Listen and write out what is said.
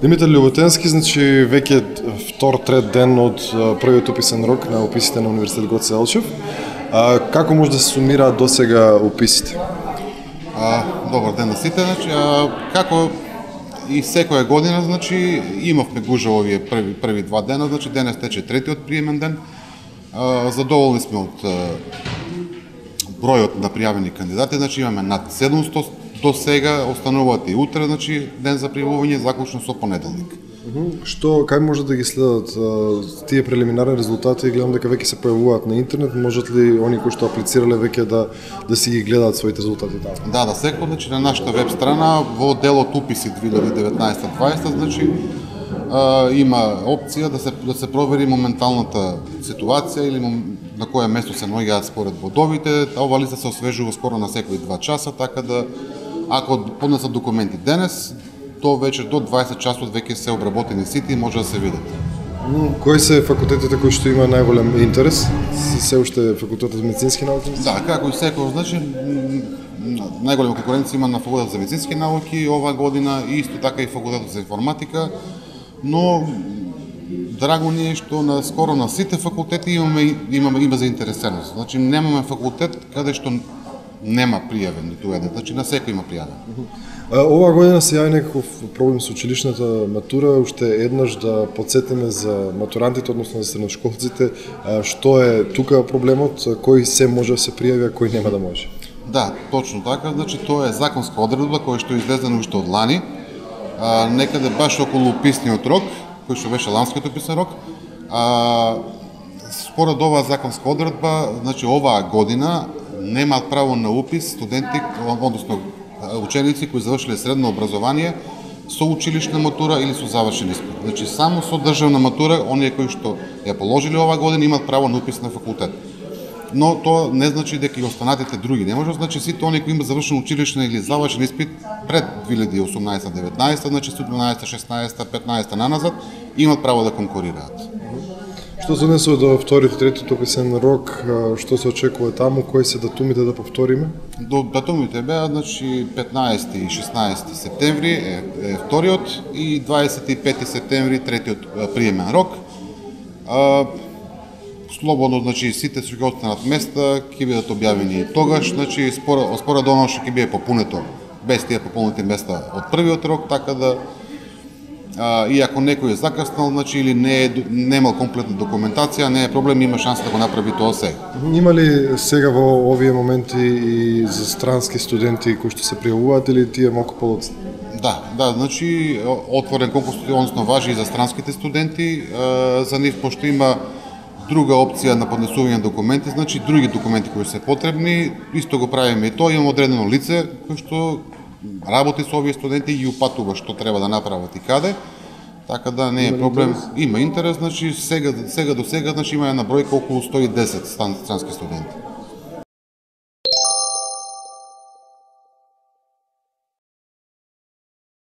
Димитар Љуботенски, значи веќе втор, трет ден од првиот уписен рок на уписите на Универзитет Гоце Делчев. Како може да се сумираат досега уписите? Добар ден на сите, значи како и секоја година, значи имавме гужа овие први два дена, значи денес тече третиот приемен ден. Задоволни сме од бројот на пријавени кандидати, значи имаме над 700 до сега, остануваат и утре, значи ден за пријавување, заклучно со понеделник. Кај може да ги следат тие прелиминарни резултати? Гледам дека веќе се појавуваат на интернет, можат ли они кои што аплицирале веќе да си ги гледаат своите резултати таму? Да, секој, значи на нашата веб страна во делот уписи 2019-2020, значи има опција да се провери моменталната ситуација или на кое место се наоѓаат според бодовите. Ова листа се освежува скоро на секои 2 часа, така да ако поднесат документи денес, до вечер до 20 часот веќе се обработени сите и може да се видат. Кои се факултетите кои што има најголем интерес? Се уште факултетот за медицински науки? Да, како и секој, значи најголема конкуренција има на факултетот за медицински науки оваа година и исто така и факултетот за информатика, но драго ни е што скоро на сите факултети има заинтересеност. Значи немаме факултет каде што нема пријавен ниту еден, значи на секој има пријавен. Оваа година се јави некаков проблем со училишната матура, уште еднаш да потсетиме за матурантите, односно за средношколците, што е тука проблемот, кој се може да се пријави, а кој нема да може? Да, точно така, значи тоа е законска одредба која што е излезена уште од лани, некаде баш околу уписниот рок, кој што беше ланскиот уписен рок. Според оваа законска одредба, значи оваа година немаат право на упис студенти, односно ученици кои завршиле средно образование со училишна матура или со завршен испит. Значи само со државна матура оние кои што ја положиле оваа година имаат право на упис на факултет. Но тоа не значи дека и останатите други не може, значи сите оние кои имаат завршен училишен или завршен испит пред 2018-19, значи 17, 16, 15 наназад имаат право да конкурираат. Што се однесува до вториот и третиот уписен рок, што се очекува таму, кои се датумите да повториме? Датумите беа, значи 15 и 16 септември е вториот и 25 септември третиот приемен рок. Слободно, значи сите што ќе останат места ќе бидат објавени тогаш, значи според оно што ќе биде попунето без тие пополнети места од првиот рок, така да и ако некој е закаснал, значи или немал комплетна документација, не е проблем, има шанса да го направи тоа сега. Има ли сега во овие моменти и за странски студенти кои што се пријавуваат или тие малку подоцна? Да, значи отворен конкурс, односно важи и за странските студенти, за нив пошто има друга опција на поднесување на документи, значи други документи кои се потребни, исто го правиме и тоа, имаме одредено лице кој што работи со овие студенти и ги упатува што треба да направат и каде, така да не е проблем. Има интерес, значи сега до сега значи има една бројка околу 110 странски студенти.